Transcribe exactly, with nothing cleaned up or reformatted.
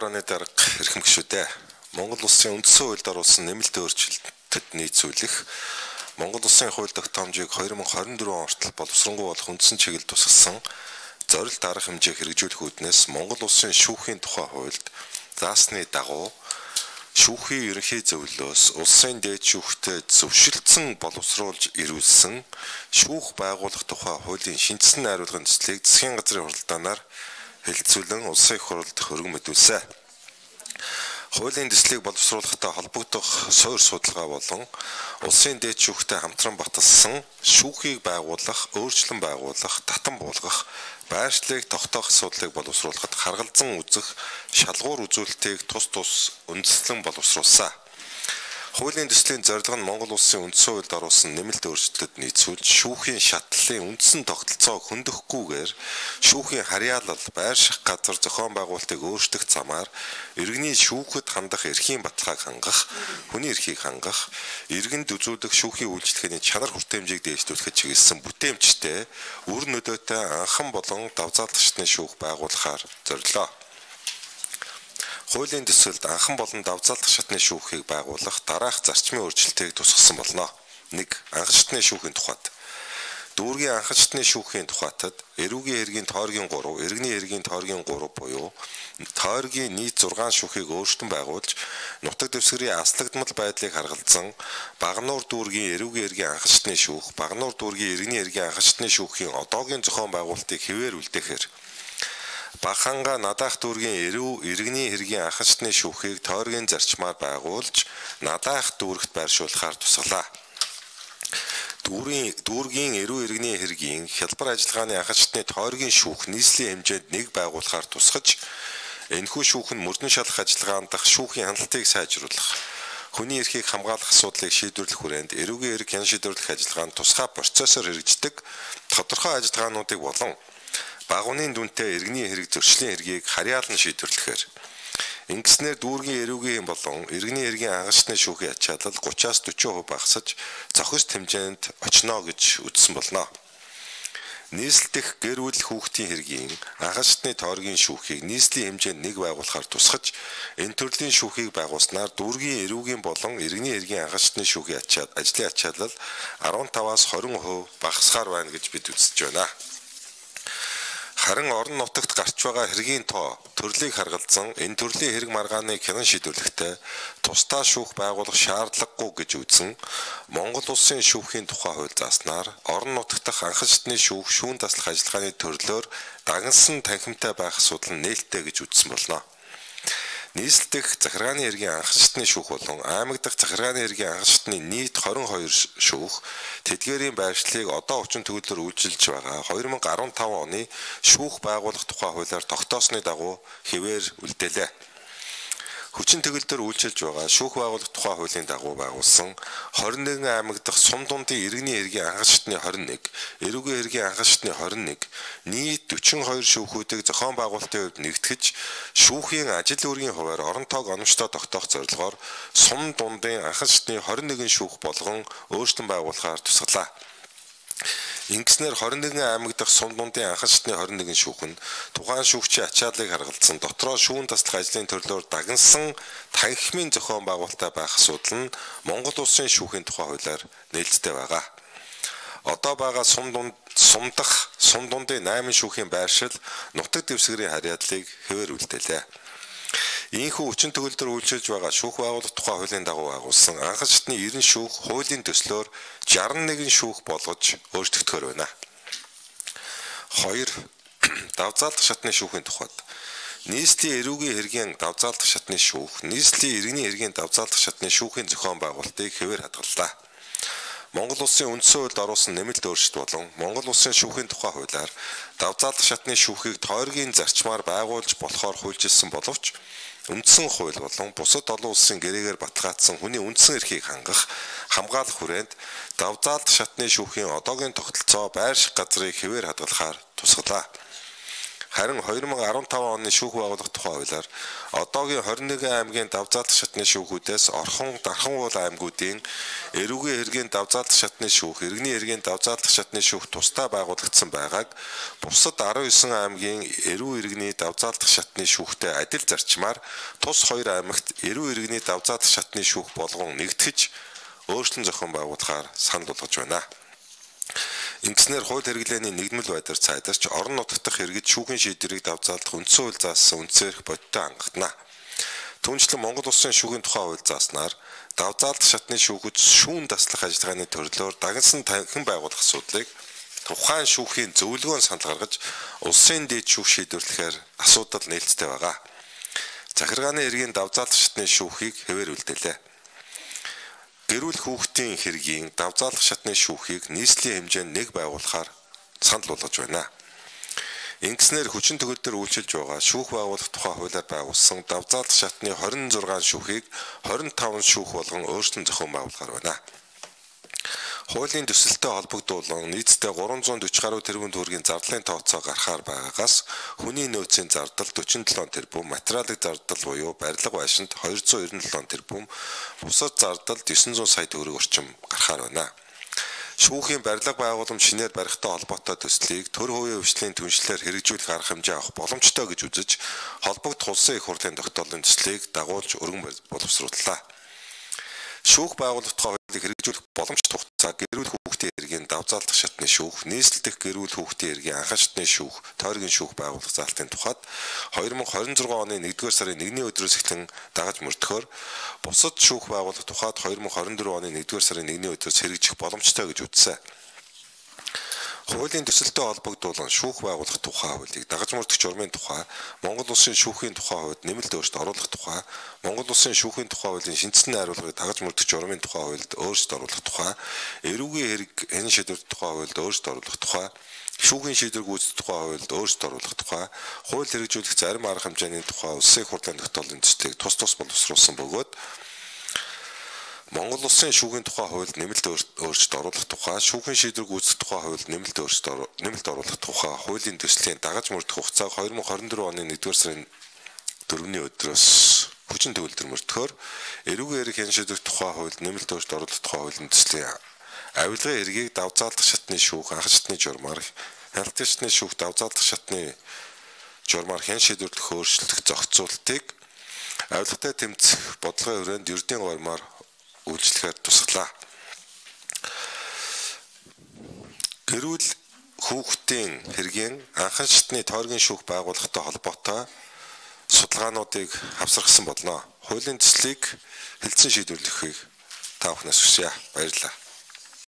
оны дарга эрхэм гишүүдээ Монгол улсын үндсэн хуульд оруулсан нэмэлт өөрчлөлтөд нийцүүлэх Монгол улсын хууль тогтоомжийг хоёр мянга хорин дөрвөн хүртэл боловсронгуй болох үндсэн чиглэлд тусгасан зорилт арга хэмжээ хэрэгжүүлэх үүднээс Монгол улсын шүүхийн тухай хуульд заасны дагуу шүүхийн ерөнхий зөвлөлөөс улсын дээд шүүхтэд зөвшөлдсөн боловсруулж ирүүлсэн шүүх байгуулах тухай хуулийн шинжилсэн найруулгын төслийг засгийн газрын хуралдаанаар хэлэлцүүлэн улсын их хурлд хөргөн мэдүүлсэн. Хуулийн төслийг боловсруулахтай холбогдох суурь судалгаа болон улсын дээд шүүхтэй хамтран баталсан шүүхийг байгуулах, өөрчлөн байгуулах, татан буулгах, байршлыг тогтоох асуудлыг боловсруулахад харгалзан үзэх шалгуур үзүүлэлтийг тус тус үндэслэн боловсруулсан. Хуулийн төслийн зорилго нь Монгол улсын үндсэн хуульд оруулсан нэмэлт өөрчлөлтөд нийцүүлж шүүхийн шатлалын үндсэн тогтолцоог хөндөөхгүйгээр шүүхийн харьяалал, байрших газар зохион байгуулалтыг өөрчлөх замаар иргэний шүүхэд хандах эрхийн баталгааг хангах, хүний эрхийг хангах, иргэнд үзүүлэх шүүхийн үйлчлэгээний чанар хүртээмжийг дээшлүүлэхэд чиглэсэн бүтээмжтэй үр нөлөөтэй анхан болон давзаалгачны шүүх байгуулахаар зорилоо. Хуулийн төсөлд анхан болон давзаалдах шатны шүүхийг байгуулах дараах зарчмын өөрчлөлтийг тусгасан болно. нэг Анхан шатны шүүхийн тухайд. Дүүргийн анхан шатны шүүхийн тухайтад эрүүгийн хэргийн тойргийн гурав, иргэний хэргийн тойргийн гурав буюу тойргийн нийт зургаан шүүхийг өөрчлөн байгуулж, нутаг дэвсгэрийн аслагдмал байдлыг харгалзан, Багнуур дүүргийн эрүүгийн хэргийн анхан шатны шүүх, Багнуур дүүргийн иргэний хэргийн анхан шатны шүүхийн одоогийн зохион байгуулалтыг хэвээр үлдээхээр Баханга Надаах дүүргийн эрүү иргэний хэргийн анхан шатны шүүхийг тойргийн зарчмаар байгуулж Надаах дүүрэгт байршуулахаар тусгалаа. Дүүргийн дүүргийн эрүү иргэний хэргийн хялбар ажиллагааны анхан шатны тойргийн шүүх нийслэлийн хэмжээнд нэг байгуулахаар тусгаж энэхүү шүүх нь мөрдөн шалах ажиллагаанд дах шүүхийн хяналтыг сайжруулах, хүний эрхийг хамгаалах асуудлыг шийдвэрлэх хүрээнд эрүүгийн эрх хян шийдвэрлэх ажиллагаанд тусгай процессор хэрэгждэг тодорхой ажиллагаануудыг болон багууны дүнтэй иргэний хэрэг зөрчлийн хэргийг харьяалан шийдвэрлэхээр ингэснээр дүүргийн эрүүгийн болон иргэний хэргийн анхан шатны шүүхийн ачаалал гураваас дөрвөн хувь багасж зохист хэмжээнд очно гэж үзсэн болно. Нийслэлдэх гэр бүл хүүхдийн хэргийн анхан шатны тойргийн шүүхийг нийслэлийн хэмжээнд нэг байгуулахаар тусгаж энэ төрлийн шүүхийг байгуулснаар дүүргийн эрүүгийн болон иргэний хэргийн анхан шатны шүүхийн ачаалал ажлын ачаалал арван таваас хорин хувь багасгаар байна гэж бид үзэж байна. Харин орон нутагт гарч байгаа хэргийн тоо төрлийг харгалзан энэ төрлийн хэрэг маргааныг хянан шийдвэрлэхдээ тусдаа шүүх байгуулах шаардлагагүй гэж үзэн Монгол улсын шүүхийн тухай хууль зааснаар орон нутагт анхан шатны шүүх шүүн таслах ажиллагааны төрлөөр дагнсан танхимтай байх асуудал нь нээлттэй гэж үзсэн болно. Нийслэлдэх захиргааны хэргийн анхан шатны шүүх болон аймаг дахь захиргааны хэргийн анхан шатны нийт хорин хоёр шүүх тэдгээрийн байршлыг одоо хүчин төгөлөөр үйлчилж байгаа хоёр мянга арван таван оны шүүх байгуулах тухай хуулиар тогтоосны дагуу хэвээр үлдээлээ. Хүчин төгөлдөр үйлчилж байгаа шүүх байгуулах тухай хуулийн дагуу байгуулсан хорин нэгэн аймаг дахь сум дундын иргэний хэргийн анхан шатны хорин нэг, эрүүгийн хэргийн анхан шатны хорин нэг, нийт дөрвөн хоёр шүүхүүдийг зохион байгуулалтын хувьд нэгтгэж шүүхийн ажил үүргийн хуваар орон тоог оновчтой тогтоох зорилгоор сум дундын анхан шатны хорин нэгэн шүүх болгон өөрчлөн байгуулахаар тусгалаа. Ингэснээр хорин нэгэн аймаг дахь сум дундын анхан шатны хорин нэгэн шүүх нь тухайн шүүгчийн ачааллыг харгалзсан дотроо шүүн таслах ажлын төрлөөр дагнсан танхимын зохион байгуулалттай байх асуудал нь Монгол улсын шүүхийн тухай хуулиар нээлттэй байгаа. Одоо байгаа сум дунд сум дахь сум дундын найман шүүхийн байршил нутаг дэвсгэрийн харьяаллыг хэвээр үлдээлээ. Ийхүү хүчин төгөлдөр үйлчилж байгаа шүүх байгуулах тухай хуулийн дагуу байгуулсан анхан шатны найман шүүх хуулийн төслөөр шестдесет и один шүүх болгож өөрчлөгдөхөр байна. хоёр Давзаалдах шатны шүүхийн тухайд нийслэлийн эрүүгийн хэргийн давзаалдах шатны шүүх нийслэлийн иргэний хэргийн давзаалдах шатны шүүхийн зохион байгуулалтыг хэвээр хадгаллаа. Монгол улсын үндсэн хуульд оруулсан нэмэлт өөрчлөлт болон Монгол улсын шүүхийн тухай хуулиар давзаалдах шатны шүүхийг тойргийн зарчмаар байгуулж болохоор хуульчилсан боловч үндсэн хууль болон бусад олон улсын гэрээгээр баталгаажсан хүний үндсэн эрхийг хангах, хамгаалах хүрээнд давзаалдах шатны шүүхийн одоогийн тогтолцоо байрших газрыг хэвээр хадгалахаар тусгалаа. Харин хоёр мың арван таван оны шүүх байгуулах тухай хуулиар одоогийн хорин нэгэн аймгийн давзаалдах шатны шүүхүүдээс Орхон, Дархан уул аймагуудын эрүүгийн хэргийн давзаалдах шатны шүүх, иргэний хэргийн давзаалдах шатны шүүх тусдаа байгуулагдсан байгааг бусад арван есөн аймгийн эрүү иргэний давзаалдах шатны шүүхтэй адил зарчмаар тус хоёр аймагт эрүү иргэний давзаалдах шатны шүүх болгон нэгтгэж өөрчлөн зохион байгуулахаар санал болгож байна. Ингэснээр хууль хэрэглээний нэгдмэл байдлаар цайдарч орон нутгад хэрэгж шүүхийн шийдвэрийг давзаалдах үндсэн хууль заасан үндсээрх бодиттой хангагдана. Түүнчлэн Монгол Улсын шүүхийн тухай хууль зааснаар давзаалдах шатны шүүхэд шүүн таслах ажиллагааны төрлөөр дагнсан танхим байгуулах асуудлыг тухайн шүүхийн зөвлөгөөн санал гаргаж улсын дэд шүүх шийдвэрлэхээр асуудал нээлттэй байгаа. Захиргааны хэргийн давзаалдах шатны шүүхийг хэвээр үлдээлээ. Гэрүүл хүүхдийн хэргийн давзаалдах шатны шүүхийг нийслэлийн хэмжээнд нэг байгуулахаар санал болгож байна. Ингэснээр хүчин төгөлдөр үйлчилж байгаа шүүх байгуулах тухай хуулиар байгуулсан давзаалдах шатны хорин зургаан шүүхийг хорин таван шүүх болгон өөрчлөн зохион байгуулахаар байна. Хуулийн төсөлтөд холбогдуулан нийтдээ гурван зуун дөрвөн гаруй тэрбум төгрөгийн зардлын тооцоо гарахаар байгаагаас хүний нөөцийн зардал дөрвөн долоо тэрбум, материалын зардал буюу барилга байшинд хоёр зуун эрдэнэ долоо тэрбум, бусад зардал девять сая сая төгрөг орчим гарахаар байна. Шүүхийн барилга байгууламж шинээр барихтай холбоотой төслийг төр хувийн хвшлийн түншлэлээр хэрэгжүүлэх арга хэмжээ авах боломжтой гэж үзэж холбогдох улсын их хурлын тогтоолын төслийг дагуулж өргөн боловсрууллаа. Шүүх байгуулах тухай хуулийг хэрэгжүүлэх боломжтой хугацаа гэрүүл хүүхдийн хэргийн давзаалдах шатны шүүх, нийслэл дэх гэрүүл хүүхдийн хэргийн анхан шатны шүүх, тойргийн шүүх байгуулах заалтын тухайд хоёр мың хорин зургаан оны нэгдүгээр сарын нэгний өдрөөс эхлэн дагаж мөрдөхөөр бусад шүүх байгуулах тухайд хоёр мың хорин дөрвөн оны нэгдүгээр сарын нэгний өдрөөс хэрэгжих боломжтой гэж үзсэн. Хуулийн төсөлтөд холбогдуулан шүүх байгуулах тухай хуулийг дагаж мөрдөх журмын тухай, Монгол Улсын шүүхийн тухай хуулиуд нэмэлт өөрчлөлт оруулах тухай, Монгол Улсын шүүхийн тухай хуулийн шинжсэн найруулгыг дагаж мөрдөх журмын тухай хуульд өөрчлөлт оруулах тухай, эрүүгийн хэрэг хэн шийдвэрлэх тухай хуульд өөрчлөлт оруулах тухай, шүүхийн шийдвэр гүйцэтгэх тухай хуульд өөрчлөлт оруулах тухай, хууль хэрэгжүүлэх зарим арга хэмжээний тухай улсын их хурлын тогтоолын төслийг тус тус боловсруулсан бөгөөд Монгол Улсын шүүхийн тухай хуульд нэмэлт өөрчлөлт оруулах тухай, шүүхийн шийдвэр гүйцэтгэх тухай хуульд нэмэлт өөрчлөлт нэмэлт оруулах тухай хуулийн төслийн дагаж мөрдөх хугацааг хоёр мың хорин дөрвөн оны нэгдүгээр сарын дөрөвний өдрөөс хүчин төгөлдөр мөрдөхөөр эрүүгийн хэрэг хэн шийдвэрлэх тухай хуульд нэмэлт өөрчлөлт оруулах тухай хуулийн төслийн авилгын хэргийг давзаалдах шатны шүүх, анхан шатны журмаар, хяналтын шатны шүүх, давзаалдах шатны журмаар хэн шийдвэрлэх өөрчлөлт зохицуултыг авилгатай тэмцэх бодлогын хүрээнд ердийн гормоор үйлчлэхээр тусглаа. Гэрүүл хүүхдийн хэргийн анхан шатны тойргийн шүүх байгуулахтай холбоотой судалгаануудыг авсаргасан болно. Хуулийн төслийг хэлтсэн шийдвэрлэхийг та бүхнээс хүсье. Баярлалаа.